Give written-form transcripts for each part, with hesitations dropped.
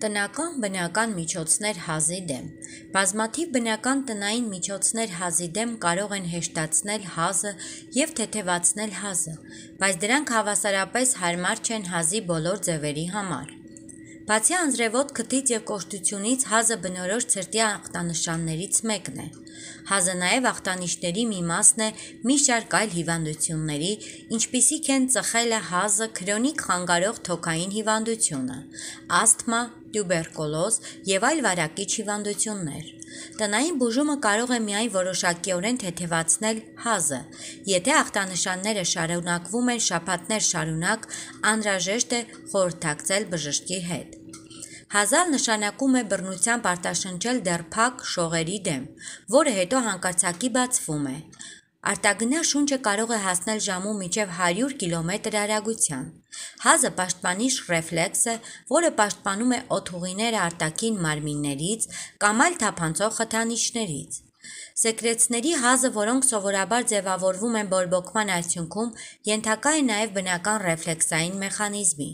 Տնական բնական միջոցներ հազի դեմ։ Բազմաթիվ բնական տնային միջոցներ հազի դեմ կարող են հեշտացնել հազը և թեթևացնել հազը, բայց դրանք հավասարապես հարմար չեն հազի բոլոր ձևերի համար։ Բացի անձրևոտ քթից և կոշտությունից, հազը բնորոշ ցրտի ախտանշաններից մեկն է։ Հազը նաև ախտանիշների մի մասն է մի շարք այլ հիվանդությունների, ինչպիսիք են ծխելը, հազը, քրոնիկ խանգարող թոքային հիվանդությունը, ասթմա, տյուբերկուլոզ և այլ վարակիչ հիվանդություններ։ Տնային բուժումը կարող է միայն որոշակիորեն թեթևացնել հազը։ Եթե ախտանշանները շարունակվում են շաբաթներ շարունակ, անհրաժեշտ է խորհրդակցել բժշկի հետ։ Հազալ նշանակում է բռնությամբ արտաշնչել դեռ փակ շողերի դեմ, որը հետո հանկարծակի բացվում է։ Արտագնա շունչը կարող է հասնել ժամում մինչև 100 կմ արագության։ Հազը պաշտպանիչ ռեֆլեքս է, որը պաշտպանում է օդուղիները արտաքին մարմիններից կամ այլ թափանցող խթանիչներից։ Սեկրեցների հազը, որոնք սովորաբար ձևավորվում են բորբոքման արդյունքում, ենթակա է նաև բնական ռեֆլեքսային մեխանիզմի։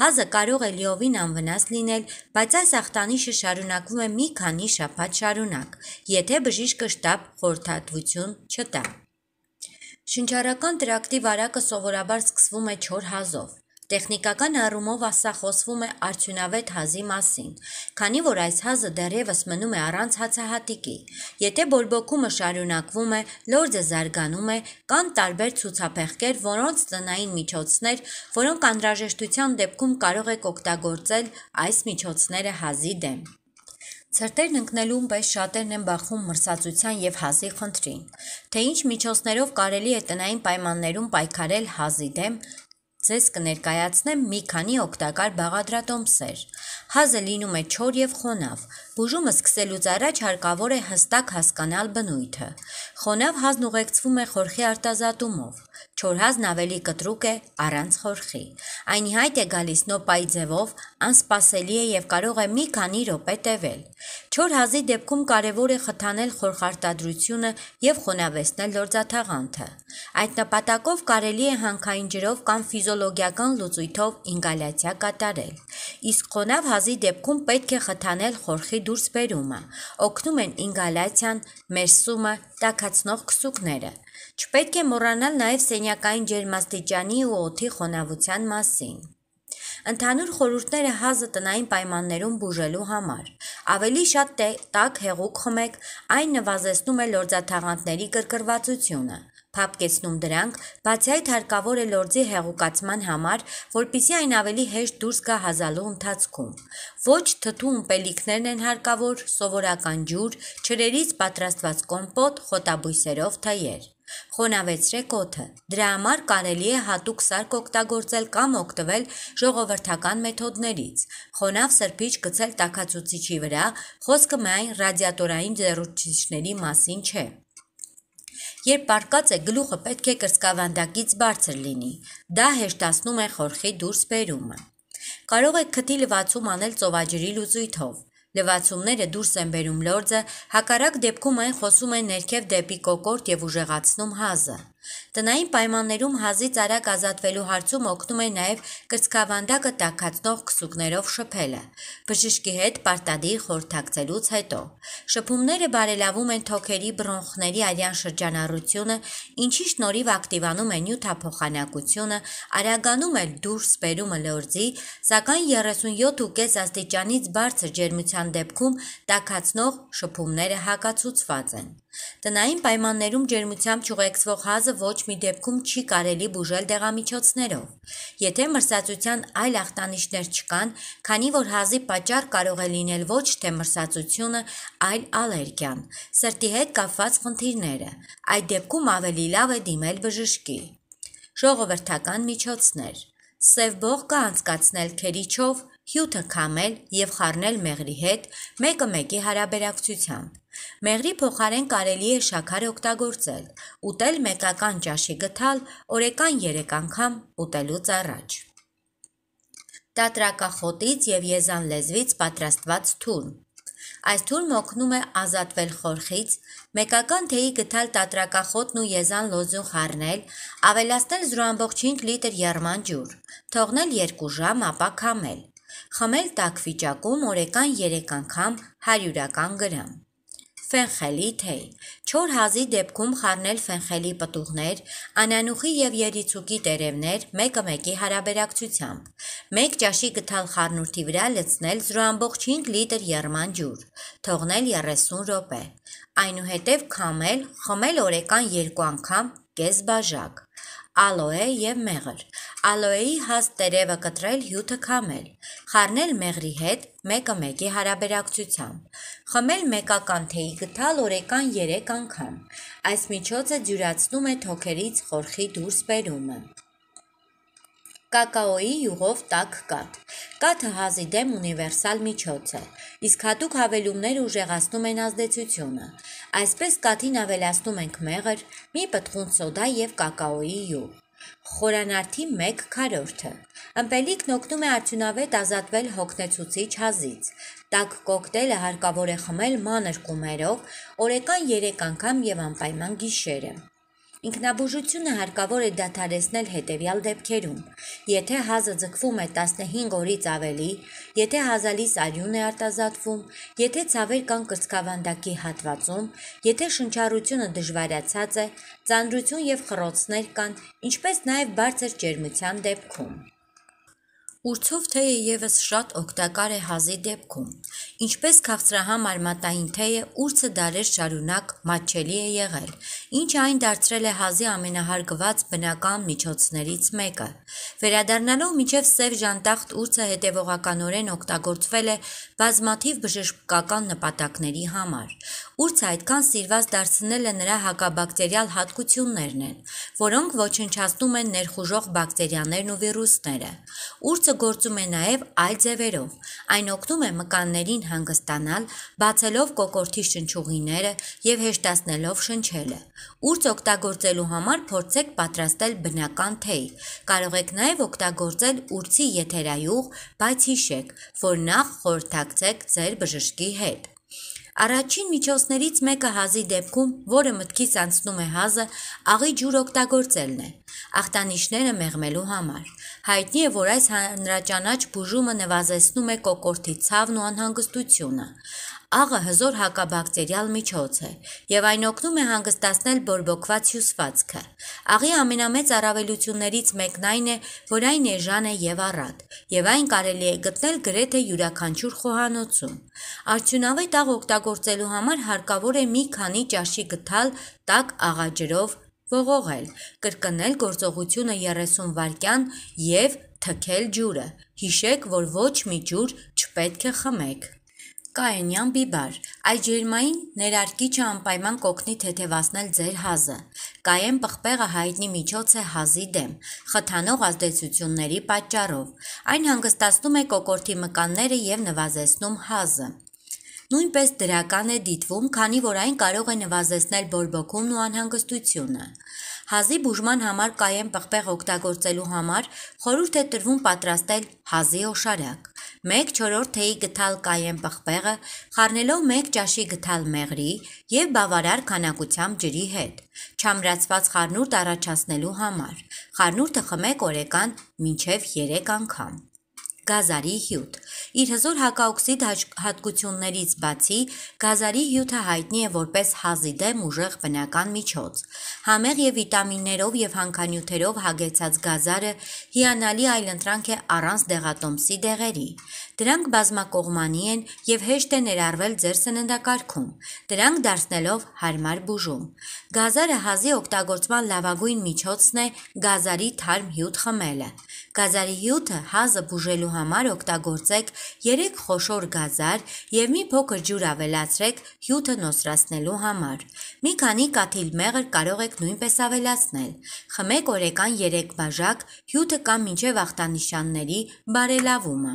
Հազը կարող է լիովին անվնաս լինել, բայց այս ախտանիշը շարունակվում է մի քանի շաբաթ շարունակ, եթե բժիշկը շտապ խորհրդատվություն չտա։ Շնչառական տրակտի վարակը սովորաբար սկսվում է չոր հազով։ Տեխնիկական առումով սա խոսվում է արդյունավետ հազի մասին, քանի որ այս հազը դեռևս մնում է առանց հացահատիկի։ Եթե բորբոքումը շարունակվում է, լորձը զարգանում է, կան տարբեր ցուցափեղկեր, որոնց տնային միջոցներ, որոնք անհրաժեշտության դեպքում կարող եք օգտագործել այս միջոցները հազի դեմ։ Ցրտերն ընկնելուն պես շատերն են բախվում մրսածության և հազի խնդրին։ Թե ինչ միջոցներով կարելի է տնային պայմաններում պայքարել հազի դեմ, ձեզ կներկայացնեմ մի քանի օգտակար բաղադրատոմսեր։ Հազը լինում է չոր և խոնավ։ Բուժումը սկսելուց առաջ հարկավոր է հստակ հասկանալ բնույթը։ Խոնավ հազն ուղեկցվում է խորխի արտազատումով։ Չոր հազն ավելի կտրուկ է առանց խորխի։ Այն ի հայտ է գալիս նոպայի ձևով, անսպասելի է և կարող է մի քանի րոպե տևել։ Չոր հազի դեպքում կարևոր է խթանել խորխարտադրությունը և խոնավեցնել լորձաթաղանթը։ Այդ նպատակով կարելի է հանքային ջրով կամ ֆիզիոլոգիական լուծույթով ինգալյացիա կատարել։ Իսկ խոնավ հազի դեպքում պետք է խթանել խորխի դուրսբերումը։ Օգնում են ինգալյացիան, մերսումը, տաքացնող քսուկները։ Չպետք է մոռանալ նաև սենյակային ջերմաստիճանի ու օդի խոնավության մասին։ Ընդհանուր խորհուրդները հազը տնային պայմաններում բուժելու համար։ Ավելի շատ տաք հեղուկ խմեք, այն նվազեցնում է լորձաթաղանթների կրկրվածությունը, փափկեցնում դրանք, բացի այդ հարկավոր է լորձի հեղուկացման համար, որպեսզի այն ավելի հեշտ դուրս գա հազալու ընթացքում։ Ոչ թթու ըմպելիքներն են հարկավոր, սովորական ջուր, ջրերից պատրաստված կոմպոտ, խոտաբույսերով թեյեր։ Խոնավեցրեք օդը։ Դրա համար կարելի է հատուկ սարք օգտագործել կամ օգտվել ժողովրդական մեթոդներից։ Խոնավ սրբիչ գցել տաքացուցիչի վրա, խոսքը միայն ռադիատորային ջեռուցիչների մասին չէ։ Երբ պառկած եք, գլուխը պետք է կրծքավանդակից բարձր լինի։ Դա հեշտացնում է խորխի դուրսբերումը։ Կարող եք քթի լվացում անել ծովաջրի լուծույթով։ Լվացումները դուրս են բերում լորձը, հակառակ դեպքում այն խոսում է ներքև դեպի կոկորդ և ուժեղացնում հազը։ Տնային պայմաններում հազից արագ ազատվելու հարցում օգնում է նաև կրծքավանդակը տաքացնող քսուկներով շփելը։ Բժշկի հետ պարտադիր խորհրդակցելուց հետո։ Շփումները բարելավում են թոքերի, բրոնխների արյան շրջանառությունը, ինչի շնորհիվ ակտիվանում է նյութափոխանակությունը, արագանում է դուրսբերումը լորձի, սակայն 37.5 աստիճանից բարձր ջերմության դեպքում տաքացնող շփումները հակացուցված են։ Տնային պայմաններում ջերմությամբ չուղեկցվող հազը ոչ մի դեպքում չի կարելի բուժել դեղամիջոցներով։ Եթե մրսածության այլ ախտանիշներ չկան, քանի որ հազի պատճառ կարող է լինել ոչ թե մրսածությունը, այլ ալերգիան, սրտի հետ կապված խնդիրները, այդ դեպքում ավելի լավ է դիմել բժշկի։ Ժողովրդական միջոցներ։ Սև բողոքը անցկացնել քերիչով, հյութը քամել և խառնել մեղրի հետ, 1:1 հարաբերակցությամբ։ Մեղրի փոխարեն կարելի է շաքար օգտագործել։ Ուտել մեկական ճաշի գթալ, օրեկան 3 անգամ ուտելուց առաջ։ Տատրակախոտից և եզան լեզվից պատրաստված թուրմ։ Այս թուրմը օգնում է ազատվել խորխից, մեկական թեյի գթալ տատրակախոտն ու եզան լոձուն խառնել, ավելացնել 0.5 լիտր եռման ջուր, թողնել 2 ժամ, ապա քամել։ Խմել տաք վիճակում օրեկան 3 անգամ 100 գրամ։ Ֆենխելի թեյ։ Չոր հազի դեպքում խառնել ֆենխելի պտուղներ, անանուխի և երիցուկի տերևներ 1:1 հարաբերակցությամբ։ 1 ճաշի գթալ խառնուրդի վրա լցնել 0,5 լիտր եռման ջուր, թողնել 30 րոպե։ Այնուհետև քամել, խմել օրեկան 2 անգամ կես բաժակ։ Ալոե և մեղր։ Ալոեի հաստ տերևը կտրել, հյութը քամել։ Խառնել մեղրի հետ 1:1 հարաբերակցությամբ։ Խմել մեկական թեյի գթալ օրեկան 3 անգամ։ Այս միջոցը դյուրացնում է թոքերից խորխի դուրս բերումը։ Կակաոյի յուղով տաք կաթ։ Կաթը հազի դեմ ունիվերսալ միջոց է, իսկ հատուկ հավելումները ուժեղացնում են ազդեցությունը։ Այսպես կաթին ավելացնում ենք մեղր, մի պտղուն սոդա և կակաոյի յուղ։ Խորանարդի 1/4-ը։ Ըմպելիքն օգնում է արդյունավետ ազատվել հոգնեցուցիչ հազից։ Տաք կոկտեյլը հարկավոր է խմել մանր կումերով օրեկան 3 անգամ և անպայման գիշերը։ Ինքնաբուժությունը հարկավոր է դադարեցնել հետևյալ դեպքերում. եթե հազը ձգվում է 15 օրից ավելի, եթե հազալիս արյուն է արտազատվում, եթե ցավեր կան կրծքավանդակի հատվածում, եթե շնչառությունը դժվարացած է, ծանրություն և խռոցներ կան, ինչպես նաև բարձր ջերմության դեպքում։ Ուրցով թեյը ևս շատ օգտակար է հազի դեպքում։ Ինչպես քաղցրահամ արմատային թեյը, ուրցը դարեր շարունակ մատչելի է եղել, ինչը այն դարձրել է հազի ամենահարգված բնական միջոցներից մեկը։ Վերադառնալով մինչև սև ժանտախտ ուրցը հետևողականորեն օգտագործվել է բազմաթիվ բժշկական նպատակների համար։ Ուրցը այդքան սիրված դարձնելը նրա հակաբակտերիալ հատկություններն են, որոնք ոչնչացնում են ներխուժող բակտերիաներն ու վիրուսները։ Ուրցը գործում է նաև այլ ձևերով։ Այն օգնում է մկաններին հանգստանալ, բացելով կոկորդի շնչուղիները և հեշտացնելով շնչելը։ Ուրց օգտագործելու համար փորձեք պատրաստել բնական թեյ։ Կարող եք նաև օգտագործել ուրցի եթերայուղ, բայց հիշեք, որ նախ խորհրդակցեք ձեր բժշկի հետ։ Առաջին միջոցներից մեկը հազի դեպքում, որը մտքից անցնում է հազը, աղի ջուր օգտագործելն է, ախտանիշները մեղմելու համար։ Հայտնի է, որ այս հանրաճանաչ բուժումը նվազեցնում է կոկորդի ցավն ու անհանգստությունը։ Աղը հզոր հակաբակտերիալ միջոց է, և այն օգնում է հանգստացնել բորբոքված հյուսվածքը։ Աղի ամենամեծ առավելություններից մեկն այն է, որ այն էժան է և առատ, և այն կարելի է գտնել գրեթե յուրաքանչյուր խոհանոցում։ Արդյունավետ աղ օգտագործելու համար հարկավոր է մի քանի ճաշի գթալ տաք աղաջրով ողողել, կրկնել գործողությունը 30 վայրկյան և թքել ջուրը։ Հիշեք, որ ոչ մի ջուր չպետք է խմեք։ Կայենյան բիբար։ Այս ջերմային ներարկիչը անպայման կօգնի թեթևացնել ձեր հազը։ Կայեն պղպեղը հայտնի միջոց է հազի դեմ, խթանող ազդեցությունների պատճառով։ Այն հանգստացնում է կոկորդի մկանները և նվազեցնում հազը։ Նույնպես դրական է դիտվում, քանի որ այն կարող է նվազեցնել բորբոքումն ու անհանգստությունը։ Հազի բուժման համար կայեն պղպեղ օգտագործելու համար խորհուրդ է տրվում պատրաստել հազի օշարակ։ 1/4 թեյի գթալ կայեն պղպեղը խառնելով 1 ճաշի գթալ մեղրի և բավարար քանակությամբ ջրի հետ, չամրացված խառնուրդ առաջացնելու համար։ Խառնուրդը խմեք օրեկան մինչև 3 անգամ։ Գազարի հյութ։ Իր հզոր հակաօքսիդ հատկություններից բացի, գազարի հյութը հայտնի է որպես հազի դեմ ուժեղ բնական միջոց։ Համեղ և վիտամիններով և հանքանյութերով հագեցած գազարը հիանալի այլընտրանք է առանց դեղատոմսի դեղերի։ Դրանք բազմակողմանի են և հեշտ է ներառվել ձեր սննդակարգում, դրանք դարձնելով հարմար բուժում։ Գազարը հազի օգտագործման լավագույն միջոցն է գազարի թարմ հյութ խմելը։ Գազարի հյութը հազը բուժելու համար օգտագործեք 3 խոշոր գազար և մի փոքր ջուր ավելացրեք հյութը նոսրացնելու համար։ Մի քանի կաթիլ մեղր կարող եք նույնպես ավելացնել։ Խմեք օրեկան 3 բաժակ, հյութը կամ մինչև ախտանշանների բարելավումը։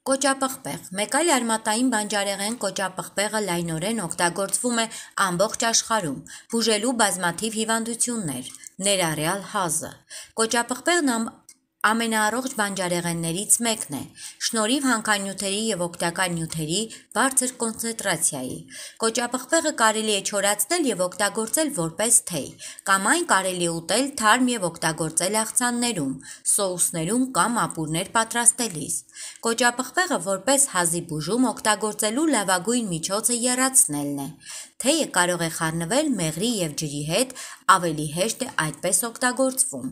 Կոճապղպեղ։ Մեկ այլ արմատային բանջարեղեն կոճապղպեղը լայնորեն օգտագործվում է ամբողջ աշխարհում, բուժելու բազմաթիվ հիվանդություններ, ներառյալ հազը։ Կոճապղպեղն ամենաառողջ բանջարեղեններից մեկն է, շնորհիվ հանքանյութերի և օգտակար նյութերի բարձր կոնցենտրացիայի։ Կոճապղպեղը կարելի է չորացնել և օգտագործել որպես թեյ, կամ այն կարելի է ուտել թարմ և օգտագործել աղցաններում, սոուսներում կամ ապուրներ պատրաստելիս։ Կոճապղպեղը որպես հազի բուժում օգտագործելու լավագույն միջոցը եռացնելն է։ Թեյը կարող է խառնվել մեղրի և ջրի հետ, ավելի հեշտ է այդպես օգտագործվում։